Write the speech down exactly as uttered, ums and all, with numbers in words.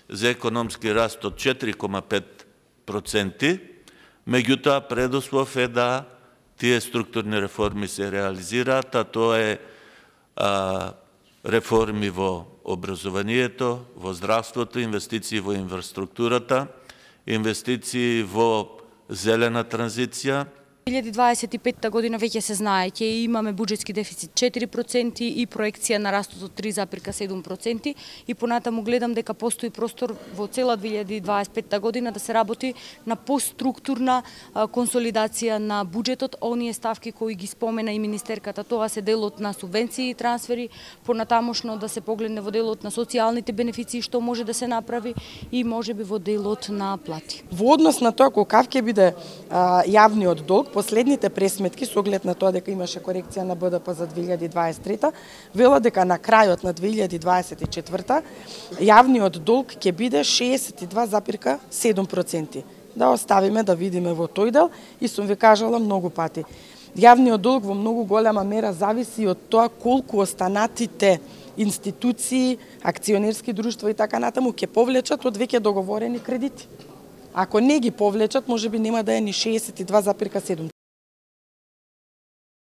за економски раст од четири кома пет проценти, меѓутоа предуслов е да тие структурни реформи се реализираат, а тоа е а, реформи во образованието, во здравството, инвестиции во инфраструктурата, инвестиции во зелена транзиција. две илјади дваесет и петта година веќе се знае, ќе имаме буџетски дефицит четири проценти и проекција на растот од три запирка седум проценти и понатаму гледам дека постои простор во цела две илјади дваесет и петта година да се работи на постструктурна консолидација на буџетот. Оние ставки кои ги спомена и министерката, тоа се делот на субвенции и трансфери, понатамошно да се погледне во делот на социјалните бенефиции што може да се направи и можеби во делот на плати. Во однос на тоа колкав ќе биде а, јавниот долг, последните пресметки со оглед на тоа дека имаше корекција на Б Д П за две илјади дваесет и трета, велат дека на крајот на две илјади дваесет и четврта јавниот долг ќе биде шеесет и два запирка седум проценти. Да оставиме да видиме во тој дел и сум ви кажала многу пати. Јавниот долг во многу голема мера зависи од тоа колку останатите институции, акционерски друштва и така натаму ќе повлечат од веќе договорени кредити. Ако не ги повлечат, можеби нема да е ни шеесет и два запирка седум.